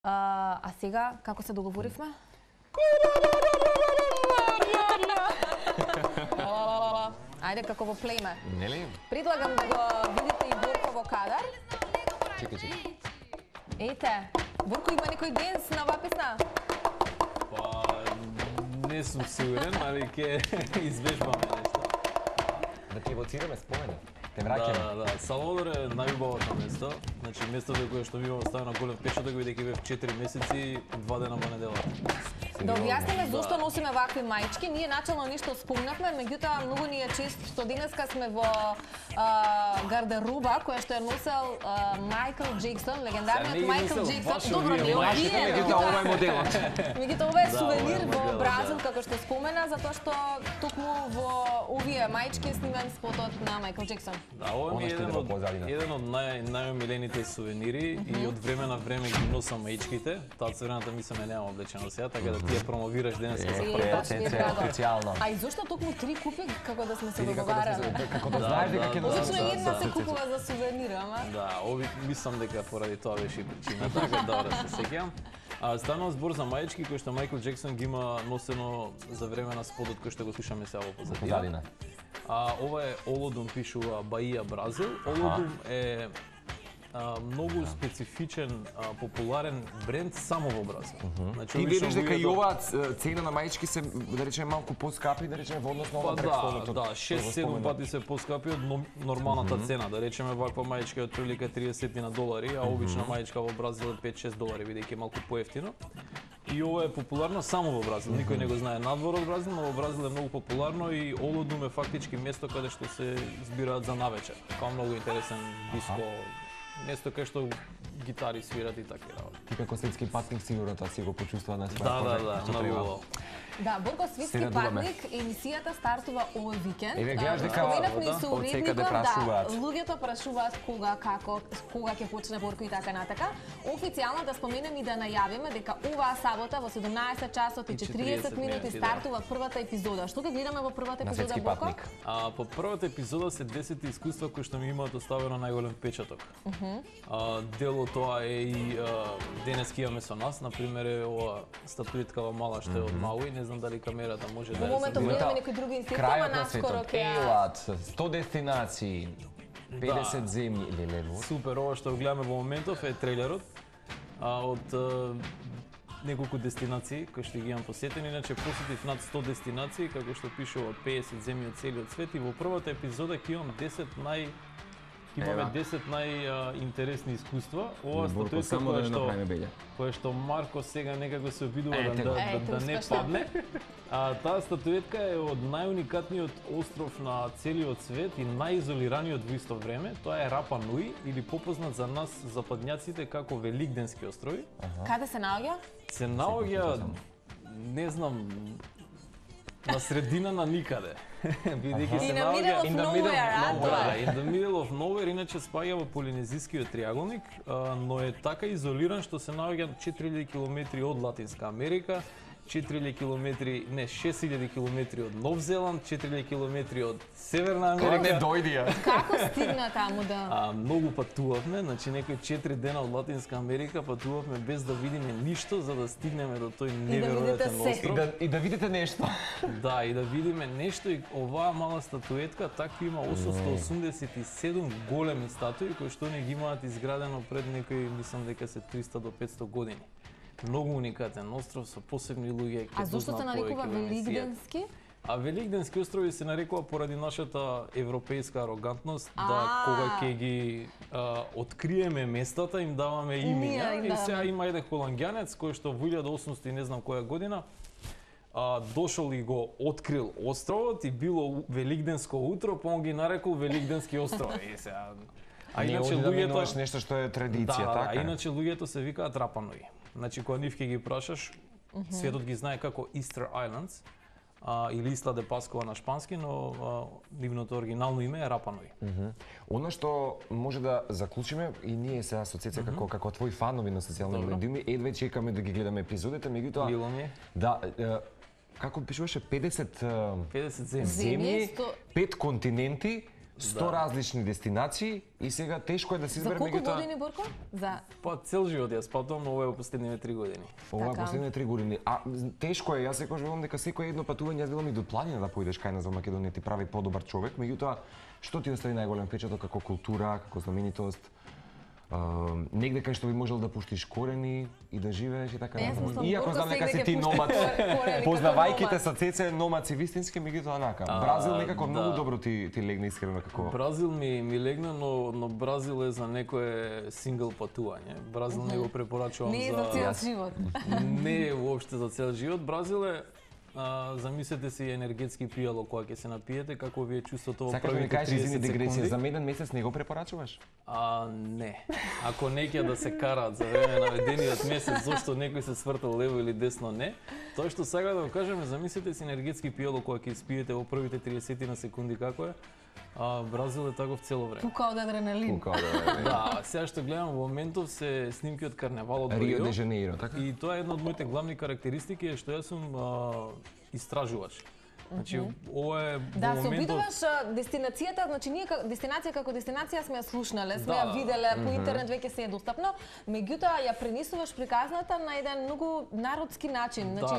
А сега, како се договоривме? Ајде, како во племе. Нели? Предлагам да го видите и Борко во кадар. Чекај. Ете, Борко има некој денс на оваа песна? Па, не сум сигурен, али ќе извежбаме нешто. Да ти евоцираме спомени. Те Да, враќаме. да. Салвадор е најубавото место. Значи, местото кое што ми имам ставено голем печаток, бидејќи бев 4 месеци, 2 дена во неделата. Да објасниме зошто носиме вакви маички. Ние начално ништо спомнавме, меѓутоа многу ни е чест што денеска сме во гардероба која што ја носел Майкл Джексон, легендарниот Майкл Джексон. Добро, не овие. Меѓутоа ова е моделот. Меѓутоа ова е Да, сувенир ова е во моделот, Бразил, да. како што спомена, затоа што токму во овие маички е снимен спотот на Майкл Джексон. Да, ова ми е Она што еден иде во од позадина. најомилените сувенири и од време на време ги носам маичките. Таа црвената мислам ја немам облечено сега, така да ти ја промовираш денеска за прв пат. Официјално. А и зошто токму 3 купи како да сме се Или договарале? како да знаеш дека ќе носиш. Обично една се купува за сувенир, ама. Да, мислам дека поради тоа беше и причината, така добро се сеќавам. Станува збор за маички кои што Майкл Джексон ги има носено за време на спотот кој што го слушаме сега во позадина. Ова е Олодум, пишува Баија, Бразил. Олодум е многу специфичен, популарен бренд само во Бразил. Значи, Ти вериш дека и оваа цена на маички се, да речеме, малку поскапи, да речеме, во однос на Па ова предходното? да, 6-7 пати се поскапи од нормалната цена. Да речеме, ваква маичка е отприлика $30, а обична маичка во Бразил е $5-6, бидејќи е малку поевтино. И ова е популарно само во Бразил. Никој не го знае надвор од Бразил, но во Бразил е многу популарно и Олодум е фактички место каде што се збираат за навечер. Као многу интересен диско, место кај што гитари свират и такви работи. Ти како светски патник сигурно тоа си го почувствува на своја Да, кожа, да, што многу треба. убаво. Да, Борко светски радуваме. патник, емисијата стартува овој викенд. Еве, гледаш дека Споменавме и со од секаде уредникот, да, прашуваат. луѓето прашуваат кога, како, кога ќе почне Борко и така натака. Официјално да споменем и да најавиме дека оваа сабота во 17 часот и 40 минути стартува првата епизода. Што ќе гледаме во првата На епизода, светски Борко? патник. По првата епизода се 10 искуства кои што ми имаат оставено најголем печаток. Дел од тоа е и денеска имаме со нас, например е ова статуеткава мала што е од Мауи, не знам дали камерата може да Во ја моментот забележи. гледаме некои други институции, Крајот ама на наскоро светот, ќе Елат, 100 дестинации, 50 земји, леле, Супер, ова што го гледаме во моментов е трейлерот од неколку дестинации кои што ги имам посетени, иначе посетив над 100 дестинации, како што пишува од 50 земји од целиот свет и во првата епизода ќе имам 10 имаме 10 најинтересни искуства. Ова статуетка која што Марко сега некако се обидува да не падне. Таа статуетка е од најуникатниот остров на целиот свет и најизолираниот во исто време. Тоа е Рапа Нуи или попознат за нас западњаците како Великденски острови. Каде се наоѓа? Се наоѓа, не знам, на средина на никаде. Бидејќи се наоѓа in the middle of nowhere, иначе спаѓа во Полинезискиот триаголник, но е така изолиран што се наоѓа 4000 километри од Латинска Америка, 6000 километри од Нов Зеланд, 4000 километри од Северна Америка. Кој не дојдија? Како стигна таму да... Многу патувавме, значи некои 4 дена од Латинска Америка патувавме без да видиме ништо за да стигнеме до тој неверојатен остров. И да видите нешто. Да, и да видиме нешто и оваа мала статуетка такви има 887 големи статуи кои што не ги имаат изградено пред некои, мислам дека се 300 до 500 години. Многу уникатен остров со посебни луѓе. А зошто се нарекува Великденски? Великденски острови се нарекува поради нашата европејска арогантност, да кога ќе ги откриеме местата им даваме имиња. И сега има еден холанѓанец кој што во 1800 и не знам која година дошол и го открил островот и било Великденско утро, па он ги нарекол Великденски острови. И сега иначе луѓето нешто што е традиција, така? Да, иначе луѓето се викаат Рапа Нуи. Значи кога нив ќе ги прашаш, светот ги знае како Easter Islands или Isla de Pascua на шпански, но нивното оригинално име е Рапа Нуи. Она што може да заклучиме и ние сега со Цеца како твои фанови на социјални медиуми, едве чекаме да ги гледаме епизодите, меѓутоа Било ми е. Да, како пишуваше 50 земји, 5 континенти, 100 различни дестинации и сега тешко е да се избере За колку меѓутоа. години, Борко? За Па цел живот јас патувам, но ова е во последниве 3 години. Ова е Така. последните 3 години. А тешко е, јас секогаш велам дека секој едно патување, јас велам и до планина да поидеш кај нас во Македонија ти прави подобар човек, меѓутоа што ти остави најголем впечаток како култура, како знаменитост? Негде кај што би можел да пуштиш корени и да живееш и така Јас натаму. мислам, Иако Борко знам дека сега си ти ќе пушти номад, корени како познавајќите номад. са Цеце номад си вистински, меѓутоа нака. Бразил некако да. многу добро ти легна искрено како. Бразил ми легна, но Бразил е за некое сингл патување. Бразил не го препорачувам не е за цел живот. Не е воопште за цел живот. Бразил е замислете си енергетски пијало кога ќе се напиете, како ви е чувството во Сакаш да ми првите кажеш, извини 30 дигресија, секунди. за меден месец не го препорачуваш? Не. Ако не ќе да се караат за време на ведениот месец, зошто некој се свртал лево или десно, не. Тоа што сега да го кажеме, замислете си енергетски пијало кога ќе испиете во првите 30 на секунди како е. Бразил е таков цело време. Пука од адреналин. Да, сега што гледам во моментов се снимки од карневалот во Рио Рио. де Жанеиро, така? И тоа е една од моите главни карактеристики е што јас сум истражувач. Значи, ова е Да, во се моментов... обидуваш дестинацијата, значи ние дестинација како дестинација сме ја слушнале, сме Да. ја виделе, по интернет веќе се е достапно, меѓутоа ја пренесуваш приказната на еден многу народски начин, значи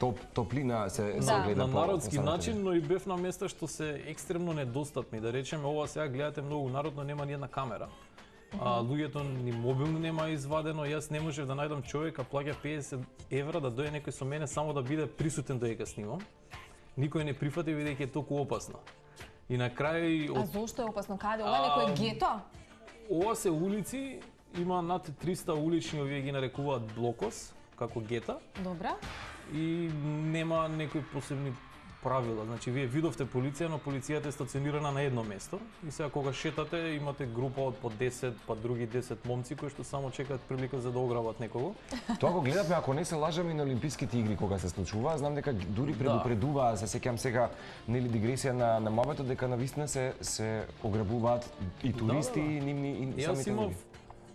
Да, Топлина се Да. гледа на по народски самото начин, но и бев на места што се екстремно недостапни. Да речеме, ова сега гледате многу народ, но нема ни една камера. Луѓето ни мобилно нема извадено, јас не можев да најдам човек, а плаќа 50 евра да дојде некој со мене само да биде присутен додека снимам. Никој не прифати бидејќи е толку опасно. И на крај а зошто е опасно? Каде? Ова е некој гето? ова се улици, има над 300 улични, овие ги нарекуваат блокос, како гета, Добра. и нема некои посебни правила. Значи, вие видовте полиција, но полицијата е стационирана на едно место. И сега кога шетате, имате група од по 10, па други 10 момци кои што само чекаат прилика за да ограбат некого. Тоа го гледавме, ако не се лажам, и на Олимписките игри кога се случува. Знам дека дури предупредуваа, се сеќам сега, нели дигресија на мовето, дека навистина се ограбуваат и туристи, и нивни и Јас самите имав луѓе.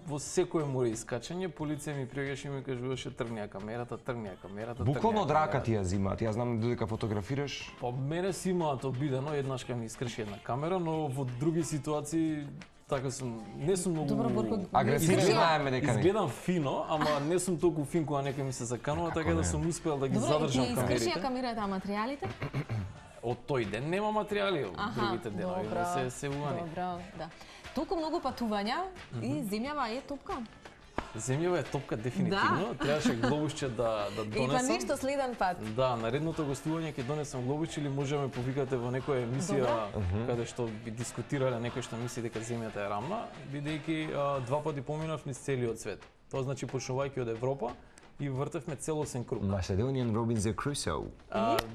во секое море искачање, полиција ми приаѓаше и ми кажуваше тргни ја камерата, тргни ја камерата. Буквално од тргни ја рака камерата. ти ја зимаат. Јас знам додека фотографираш. Па мене си имаат обидено, еднаш кога ми искрши една камера, но во други ситуации така сум, не сум многу Добро, Борко, агресивни Изгледа- знаеме дека не. Изгледам фино, ама не сум толку фин кога некој ми се заканува, така не? да сум успел да ги Добро, и ти задржам искршија камерите. камерата, а материјалите? Од тој ден нема материјали, од другите денови добро, се увани. Добро, да. Толку многу патувања и земјава е топка. Земјава е топка дефинитивно, требаше глобусче да И па донесам. ништо следен пат. Да, наредното гостување ќе донесам глобусче или може да ме повикате во некоја емисија каде што би дискутирале некој што мисли дека земјата е рамна, бидејќи 2 пати поминав низ целиот свет. Тоа значи почнувајќи од Европа и вртевме целосен круг. Macedonian Robinson Crusoe.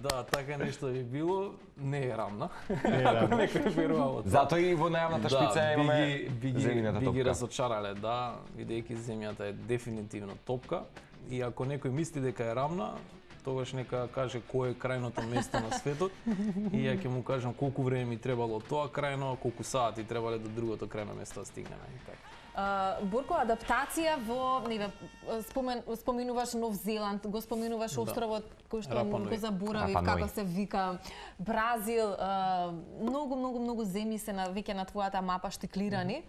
Да, така нешто би било, не е рамна. Ако некој верува. Затоа и во најавната шпица имаме земјината би ги топка. разочарале, да, бидејќи земјата е дефинитивно топка и ако некој мисли дека е рамна, тогаш нека каже кој е крајното место на светот и ја ќе му кажам колку време ми требало од тоа крајно, колку сати требале до другото крајно место да стигнеме. И така. Борко, адаптација во, споменуваш Нов Зеланд, го споменуваш островот кој што Рапа Нуи. го заборавив Рапа Нуи. како се вика, Бразил, многу земји се веќе на твојата мапа штиклирани.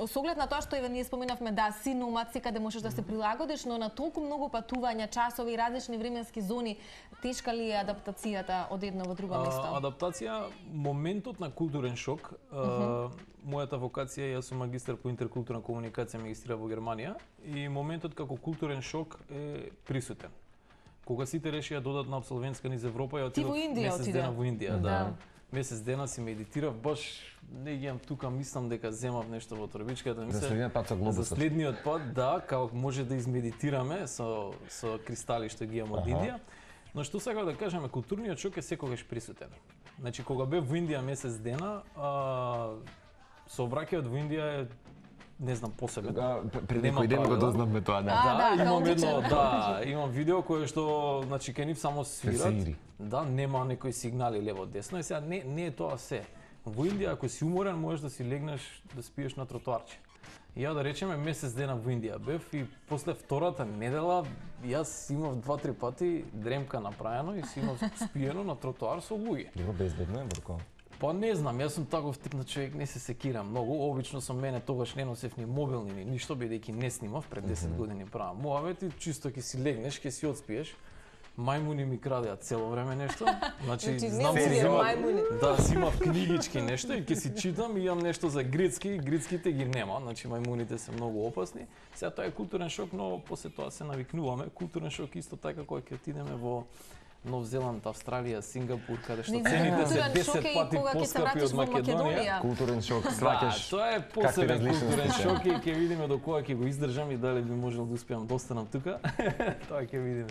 Со оглед на тоа што ние споменавме, да, си номад, секаде можеш да се прилагодиш, но на толку многу патувања, часови и различни временски зони, тешка ли е адаптацијата од едно во друго место? Адаптација, моментот на културен шок. Мојата вокација, јас сум магистар по интеркултурна комуникација, магистрирав во Германија, и моментот како културен шок е присутен. Кога сите решија додат на абсолвентска низ Европа, ја Ти во отидов Индија месец отиде. дена во Индија, да. Да. Месец дена си медитирав, баш не ги имам тука, мислам дека земав нешто во торбичката. За следниот пат со За глобусот. следниот пат, да, како може да измедитираме со кристали што ги имам од Индија. Но што сакам да кажеме, културниот шок е секогаш присутен. Значи, кога бев во Индија месец дена, сообраќајот во Индија е, не знам, посебен. Пред Нема некој ден го правила. дознавме тоа, да. да, имам хаотичен. едно, да, имам видео кое што, значи, кај нив само свират. свири. Да, нема некои сигнали лево десно и сега не е тоа се. Во Индија ако си уморен можеш да си легнеш да спиеш на тротоарче. И ја да речеме месец дена во Индија бев и после втората недела јас имав 2-3 пати дремка направено и си имав спиено на тротоар со луѓе. Било безбедно е, Борко. Па не знам, јас сум таков тип на човек, не се секирам многу. Обично со мене тогаш не носев ни мобилни ни ништо, бидејќи не снимав пред 10 години правам муавет и чисто ќе си легнеш, ќе си одспиеш. Мајмуни ми крадеа цело време нешто. Значи знам си си имав книгички нешто и ќе си читам и имам нешто за грицки, грицките ги нема, значи мајмуните се многу опасни. Сега тоа е културен шок, но после тоа се навикнуваме. Културен шок исто така кога ќе отидеме во Нов Зеланд, Австралија, Сингапур, каде што цените се 10 пати поскапи од Македонија. Културен шок, сваќаш. Тоа е посебен културен шок и ќе видиме до кога ќе го издржам и дали би можел да успеам да останам тука. Тоа ќе видиме.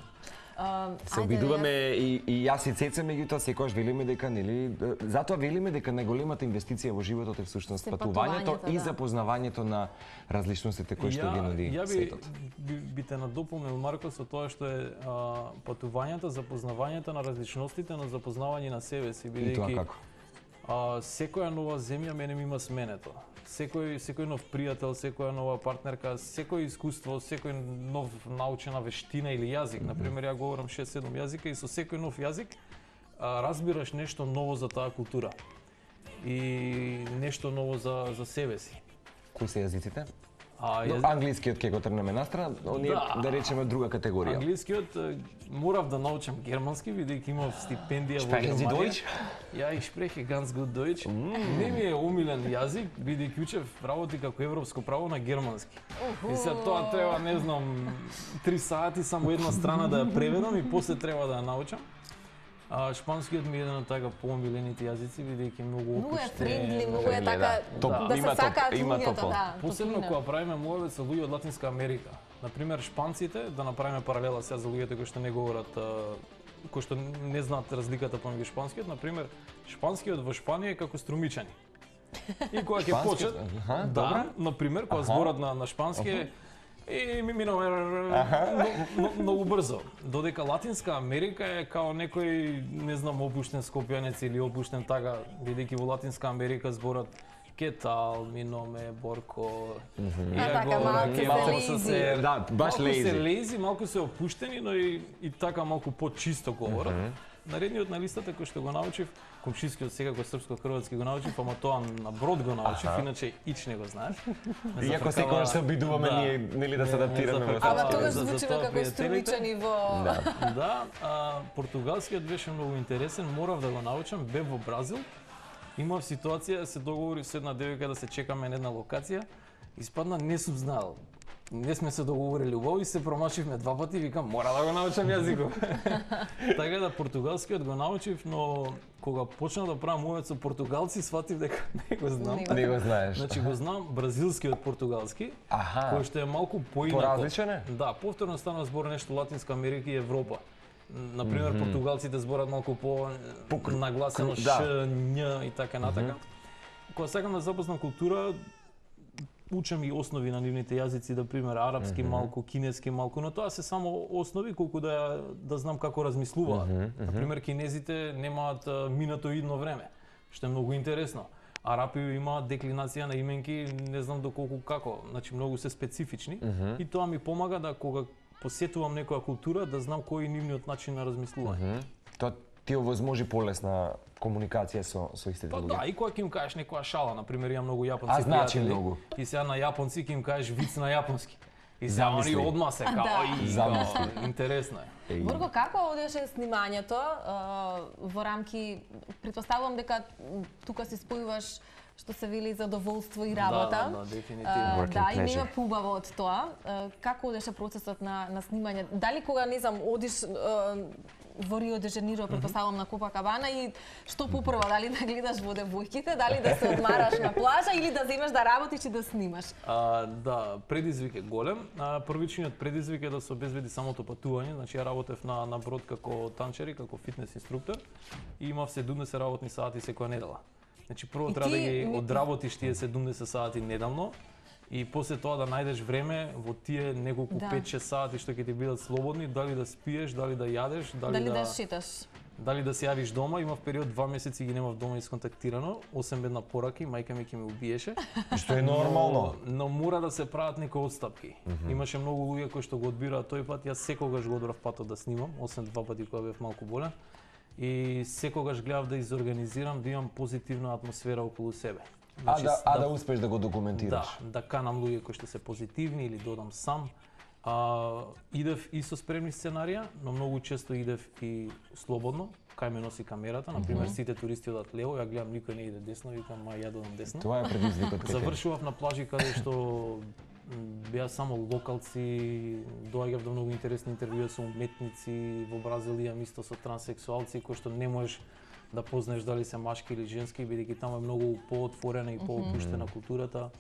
Се обидуваме и јас и Цеца, меѓутоа секогаш велиме дека нели затоа велиме дека најголемата инвестиција во животот е всушност патувањето и запознавањето на различностите кои што ги нуди светот. Би те надополнил Марко со тоа што е патувањето, запознавањето на различностите, на запознавање на себе си, бидејќи секоја нова земја мене ми има сменето. Секој нов пријател, секоја нова партнерка, секој искуство, секој нов научена вештина или јазик. Например, ја говорам 6-7 јазика и со секој нов јазик разбираш нешто ново за таа култура и нешто ново за себе си. Кои се јазиците? Англискиот ќе го трнеме настрана, оние да речеме друга категорија. Англискиот морав да научам германски, бидејќи имав стипендија во Германија. Ja, ich spreche ganz gut Deutsch. Не ми е омилен јазик, бидејќи учев работи како европско право на германски. И се тоа треба, не знам, 3 сати само една страна да ја преведам и после треба да ја научам. Шпанскиот ми е еден од така поомилените јазици, бидејќи многу опуштен. Многу е френдли, многу е така да се сакаат луѓето, да. Посебно кога правиме муавет со луѓе од Латинска Америка. Например, шпанците, да направиме паралела сега за луѓето кои што не говорат, кои што не знаат разликата помеѓу шпанскиот, например, шпанскиот во Шпанија е како струмичани. И кога ќе почнат, например, кога зборат на шпански и ми минаме многу брзо. Додека Латинска Америка е као некој, не знам, опуштен скопјанец или опуштен така, бидејќи во Латинска Америка зборат кетал, миноме, борко, малку се баш лези, малку се опуштени, но и така малку почисто говорат. Наредниот на листата кој што го научив, комшискиот секако српско-хрватски го научив, ама тоа на брод го научив, иначе ич не го знаеш. Иако секогаш се обидуваме ние нели да се адаптираме. Ама тогаш звучиме како струмичани во португалскиот беше многу интересен, морав да го научам, бев во Бразил. Имав ситуација, се договорив со една девојка да се чекаме на една локација. Испадна не сум знаел. Не сме се договорили убаво и се промашивме 2 пати и викам мора да го научам јазиков. Така да португалскиот го научив, но кога почнав да правам муавет со португалци, сватив дека не го знам. Не го знаеш. Значи го знам бразилскиот португалски, кој што е малку поинако. Поразличен е? Да, повторно станува збор нешто Латинска Америка и Европа. Например, португалците зборат малку по нагласено ш, њ и така натака. Кога сакам да запознам култура, учам и основи на нивните јазици, да пример арапски малку, кинески малку, но тоа се само основи колку да знам како размислуваат. Например, кинезите немаат минатоидно време, што е многу интересно. Арапи имаат деклинација на именки, не знам доколку како, значи многу се специфични и тоа ми помага да кога посетувам некоја култура да знам кој е нивниот начин на размислување. Тоа ти овозможи полесна комуникација со истите луѓе. Да, и кога ќе им кажеш некоја шала, например, имам многу јапонци значи многу. И сега на јапонци ќе им кажеш виц на јапонски. И сега они одма се као интересно е. Борко, како одеше снимањето во рамки, претпоставувам дека тука се спојуваш што се вели задоволство и работа. Да, дефинитивно. Да, и нема поубаво од тоа. Како одеше процесот на снимање? Дали кога, не знам, одиш во Рио де Жаниро, претпоставувам на Копакабана и што попрво, дали да гледаш во девојките, дали да се одмараш на плажа или да земеш да работиш и да снимаш? Да, предизвик е голем. Првичниот предизвик е да се обезбеди самото патување, значи ја работев на брод како танчер и како фитнес инструктор и имав 70 работни сати секоја недела. Значи прво треба да ги одработиш тие 70 сати неделно и после тоа да најдеш време во тие неколку 5-6 сати што ќе ти бидат слободни, дали да спиеш, дали да јадеш, дали да шеташ. Дали да се јавиш дома, имав период 2 месеци ги немав дома исконтактирано, осем една пораки, мајка ми ќе ме убиеше. Што е нормално. Но мора да се прават некои отстапки. Имаше многу луѓе кои што го одбираат тој пат, јас секогаш го одбрав патот да снимам, осем 2 пати кога бев малку болен. и секогаш гледав да изорганизирам, да имам позитивна атмосфера околу себе. Да успеш да го документираш. Да канам луѓе кои што се позитивни или додам сам. Идев и со спремни сценарија, но многу често идев и слободно, кај ме носи камерата, например сите туристи одат лево, ја гледам никој не иде десно, викам ја додам десно. Тоа е предизвикот кај тебе. Завршував на плажи каде што беа само локалци, доаѓав до многу интересни интервјуи со уметници во Бразилија, исто со транссексуалци кои што не можеш да познаеш дали се машки или женски, бидејќи таму е многу поотворена и поопуштена културата.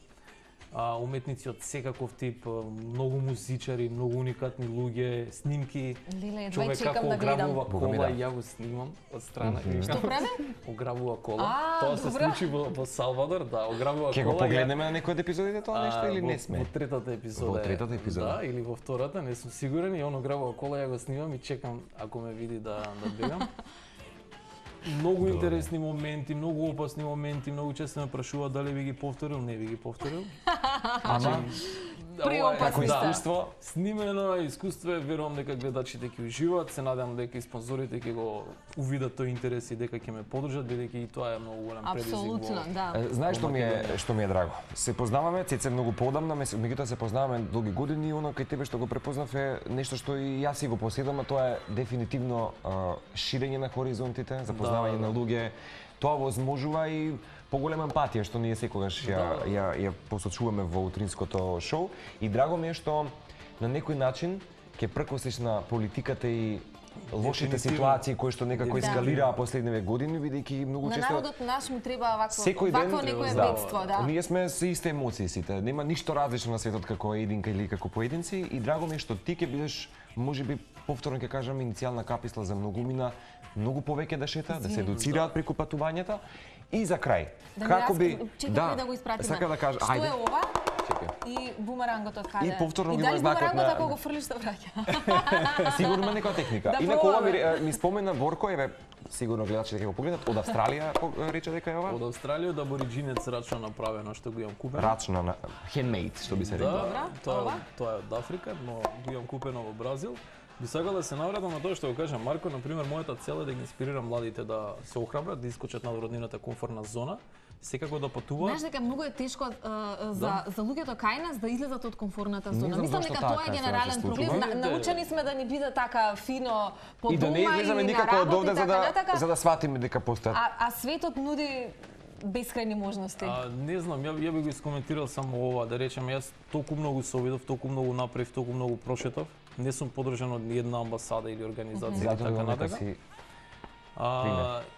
Уметници од секаков тип, многу музичари, многу уникатни луѓе, снимки. Леле, човек како ограбува кола и ја го снимам од страна. Што прави? Ограбува кола. Тоа се случи во Салвадор, да, ограбува кола. Ќе го погледнеме на некој од епизодите тоа нешто или не сме? Во третата епизода. Во третата епизода. Да, или во втората, не сум сигурен, и он ограбува кола, ја го снимам и чекам ако ме види да бегам. Многу интересни моменти, многу опасни моменти, многу често ме прашуваат дали би ги повторил, не би ги повторил. Ама како искуство, снимено искуство е, верувам дека гледачите ќе уживаат, се надевам дека и спонзорите ќе го увидат тој интерес и дека ќе ме поддржат, бидејќи и тоа е многу голем предизвик. Апсолутно, да. Знаеш што ми е драго? Се познаваме, Цеце многу поодамна, меѓутоа се познаваме долги години и оно кај тебе што го препознав е нешто што и јас си го поседам, а тоа е дефинитивно ширење на хоризонтите, запознавање на луѓе. Тоа возможува и поголема емпатија што ние секогаш ја посочуваме во утринското шоу, и драго ми е што на некој начин ќе прекосиш на политиката и лошите ситуации кои што некако ескалираа последниве години, бидејќи многу често на народот наш му треба вакво некое бедство, да. Ние сме со исти емоции сите, нема ништо различно на светот како единка или како поединци, и драго ми е што ти ќе бидеш можеби повторно ќе кажам иницијална каписла за многумина, многу повеќе да шета, да се едуцираат преку патувањата. И за крај, како би да го испратиме. Сакам да кажам, што е ова? И бумерангот од каде? И повторно ги има знакот на ако го фрлиш да враќа. Сигурно има некоја техника. Да, инаку ова ми спомена Борко, еве сигурно гледачите ќе го погледнат, од Австралија рече дека е ова. Од Австралија, од абориџинец рачно направено што го имам купено. Рачно на handmade, што би се рекло. Да, тоа е од Африка, но го имам купено во Бразил. Би сакал да се навратам на тоа што го кажа Марко, например, мојата цел е да ги инспирирам младите да се охрабрат, да искочат надвор од нивната комфортна зона, секако да патуваат. Знаеш дека многу е тешко за луѓето кај нас да излезат од комфортната зона. Мислам дека тоа е генерален проблем. Научени сме да ни биде така фино по дома и да не излеземе никако од овде за да сватиме дека постојат. А светот нуди бескрајни можности. Не знам, ја би го искоментирал само ова, да речем, јас толку многу се обидов, толку многу направив, толку многу прошетав. Не сум поддржан од ниедна амбасада или организација и така натака.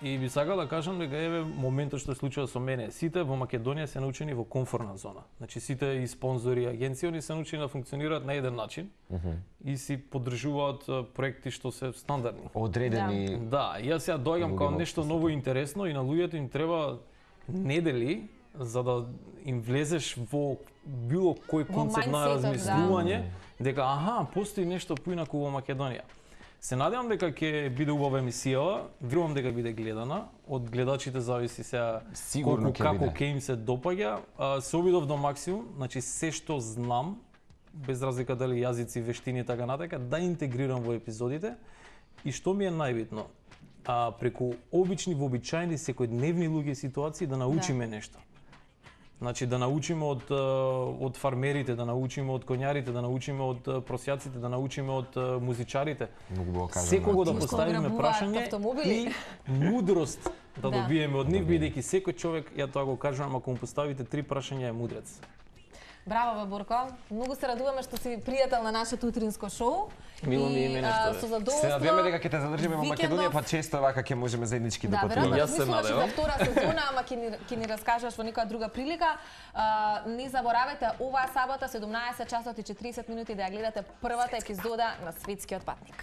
И би сакал да кажам дека еве моментот што се случува со мене. Сите во Македонија се научени во комфортна зона. Значи сите и спонзори, агенции, они се научени да функционираат на еден начин и си поддржуваат проекти што се стандардни. Одредени. Да, јас ја доаѓам као нешто ново и интересно и на луѓето им треба недели за да им влезеш во било кој концепт на размислување, дека постои нешто поинаку во Македонија. Се надевам дека ќе биде убава емисија, верувам дека биде гледана, од гледачите зависи сега како ќе им се допаѓа. Се обидов до максимум, значи се што знам, без разлика дали јазици, вештини и така натака, да интегрирам во епизодите. И што ми е најбитно, преку обични, вообичаени, секојдневни луѓе ситуации да научиме нешто. Значи да научиме од фармерите, да научиме од конјарите, да научиме од просјаците, да научиме од музичарите. Секого да поставиме прашање и мудрост да добиеме од нив, бидејќи секој човек, ја тоа го кажувам, ако му поставите 3 прашања е мудрец. Браво, Борко. Многу се радуваме што си пријател на нашето утринско шоу. Мило ми е нешто. Се надеваме дека ќе те задржиме во Македонија, па често вака ќе можеме заеднички да патуваме. Јас се надевам. За втора сезона, ама ќе ни раскажеш во некоја друга прилика. Не заборавајте оваа сабота 17 часот и 40 минути да ја гледате првата епизода на Светскиот патник.